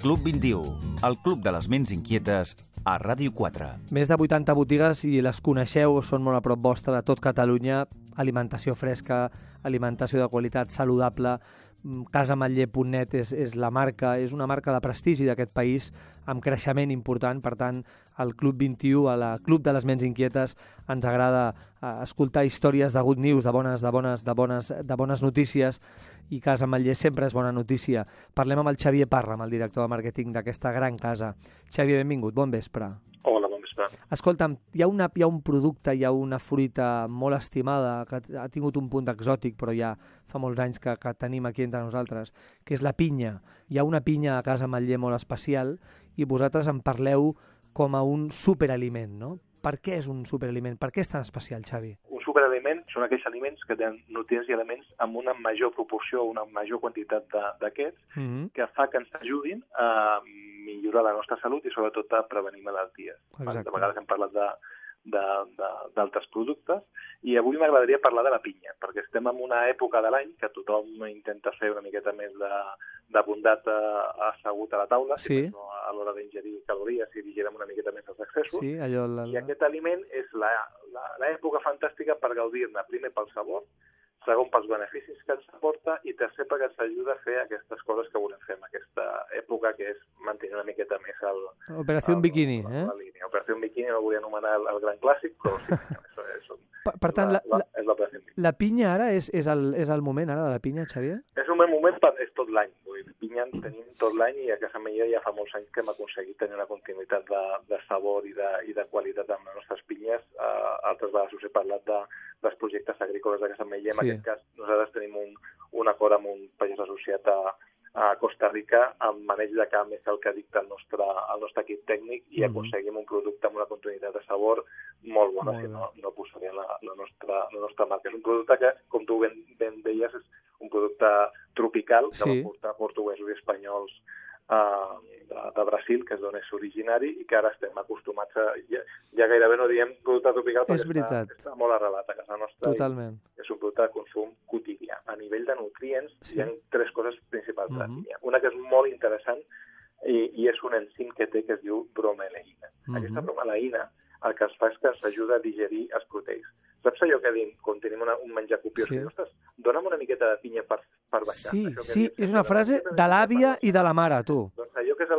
Club 21, el club de les ments inquietes a Ràdio 4. Més de 80 botigues, i les coneixeu, són molt a prop vostra, de tot Catalunya. Alimentació fresca, alimentació de qualitat, saludable. Casamatller.net és la marca, és una marca de prestigi d'aquest país, amb creixement important. Per tant, al Club 21, a la Club de les Ments Inquietes, ens agrada escoltar històries de good news, de bones notícies, i Casamatller sempre és bona notícia. Parlem amb el Xavier Parra, amb el director de màrqueting d'aquesta gran casa. Xavier, benvingut, bon vespre. Hola, bon vespre. Escolta'm, hi ha un producte, hi ha una fruita molt estimada, que ha tingut un punt exòtic, però ja fa molts anys que tenim aquí entre nosaltres, que és la pinya. Hi ha una pinya a Casamatller molt especial i vosaltres en parleu com a un superaliment, no? Per què és un superaliment? Per què és tan especial, Xavi? Un superaliment són aquells aliments que tenen nutrients i elements amb una major proporció, una major quantitat d'aquests, que fa que ens ajudin a millorar la nostra salut i sobretot a prevenir malalties. Exacte. De vegades hem parlat d'altres productes, i avui m'agradaria parlar de la pinya, perquè estem en una època de l'any que tothom intenta fer una miqueta més de bondat assegut a la taula, sí, no a l'hora d'ingerir calories i digerem una miqueta més els excessos. Sí, I aquest aliment és l'època fantàstica per gaudir-ne, primer pel sabor, segon pels beneficis que ens aporta, i tercer perquè ens ajuda a fer aquestes coses que volem fer en aquesta època, que és mantenir una miqueta més Operació Bikini, la línia. Operació Bikini no volia anomenar el gran clàssic, però sí, això és per tant, l'Operació Bikini. La pinya ara és el moment ara de la pinya, Xavier? És un bon moment, és tot l'any. Pinya en tenim tot l'any, i a Casamatller ja fa molts anys que hem aconseguit tenir una continuïtat de sabor i de qualitat amb les nostres pinyes. Altres vegades us he parlat dels projectes agrícoles de Casamatller. En aquest cas, nosaltres tenim un acord amb un pagès associat a Costa Rica, amb maneig de camp, és el que dicta el nostre equip tècnic, i aconseguim un producte amb una continuïtat de sabor molt bona, si no posaríem la nostra marca. És un producte que, com tu ben deies, és un producte tropical, que va portar portuguesos i espanyols de Brasil, que és d'on és originari, i que ara estem acostumats a... Ja gairebé no diem producte tropical, perquè està molt arrelat a casa nostra. Totalment. És un producte de consum quotidià. A nivell de nutrients, hi ha tres coses principals de la pinya. Una que és molt interessant, i és un enzim que té, que es diu bromelaïna. Aquesta bromelaïna el que es fa és que ens ajuda a digerir els proteïns. Saps allò que diem quan tenim un menjar copiós? Ostres, dona'm una miqueta de pinya per baixar. Sí, és una frase de l'àvia i de la mare, tu. Doncs allò que és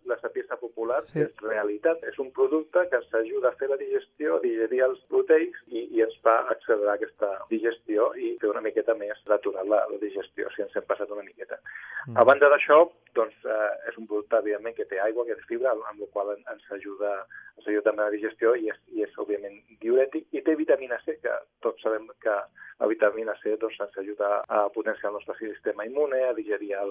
la sapiença popular és realitat, és un producte que ens ajuda a fer la digestió, a digerir els proteïns, i ens fa accelerar aquesta digestió i fer una miqueta més natural la digestió, si ens hem passat una miqueta. A banda d'això, doncs, és un producte, evidentment, que té aigua, que té fibra, amb la qual ens ajuda també a la digestió, i és òbviament, diürètic, i té vitamina C, que tots sabem que la vitamina C ens ajuda a potenciar el nostre sistema immune, a digerir a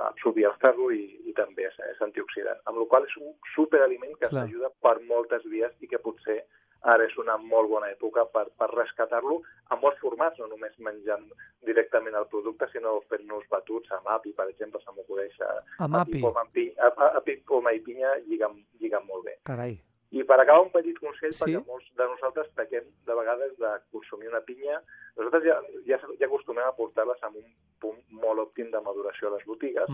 absorbir el ferro, i també és antioxidant. Amb la qual és un superaliment que ens ajuda per moltes vies, i que potser ara és una molt bona època per rescatar-lo en molts formats, no només menjant directament el producte, sinó fent-nos batuts amb api, per exemple, se m'acudeix. Amb api? Api, poma i pinya lliguen molt bé. Carai. I per acabar, un petit consell, perquè molts de nosaltres pequem de vegades de consumir una pinya. Nosaltres ja acostumem a portar-les amb un punt molt òptim de maduració a les botigues,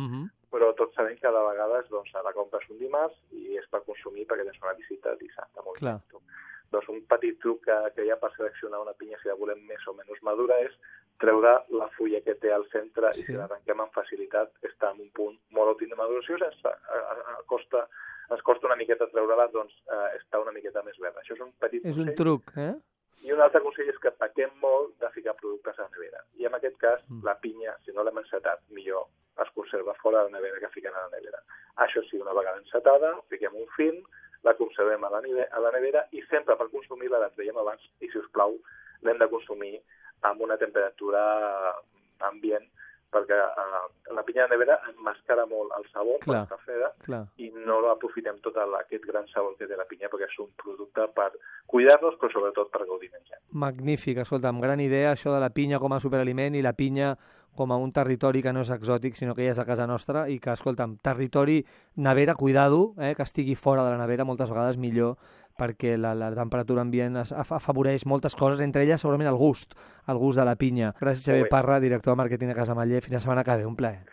però tots sabem que de vegades la compres un dimarts i és per consumir perquè tens una visita dissabte. Doncs un petit truc que hi ha per seleccionar una pinya, si la volem més o menys madura, és treure la fulla que té al centre, i si l'arrenquem amb facilitat està en un punt molt òptim de maduració. Ens costa una miqueta treure-la, doncs està una miqueta més verda. Això és un petit consell. És un truc, I un altre consell és que pequem molt de ficar productes a la nevera. I en aquest cas, la pinya, si no l'hem encetat, millor es conserva fora de la nevera que fiquen a la nevera. Això sí, una vegada encetada, fiquem un film, la conservem a la nevera, i sempre per consumir-la la traiem abans, i si us plau l'hem de consumir amb una temperatura ambient, perquè la pinya de nevera emmascara molt el sabor quan està freda, i no aprofitem tot aquest gran sabor que té la pinya, perquè és un producte per cuidar-nos, però sobretot per gaudir menjant. Magnífic, escolta'm, gran idea això de la pinya com a superaliment, i la pinya com a un territori que no és exòtic, sinó que ja és de casa nostra, i que, escolta'm, territori, nevera, cuidado, que estigui fora de la nevera, moltes vegades millor, perquè la temperatura ambient afavoreix moltes coses, entre elles segurament el gust de la pinya. Gràcies, Xavier Parra, director de màrqueting de Casamatller. Fins la setmana que ve, un plaer.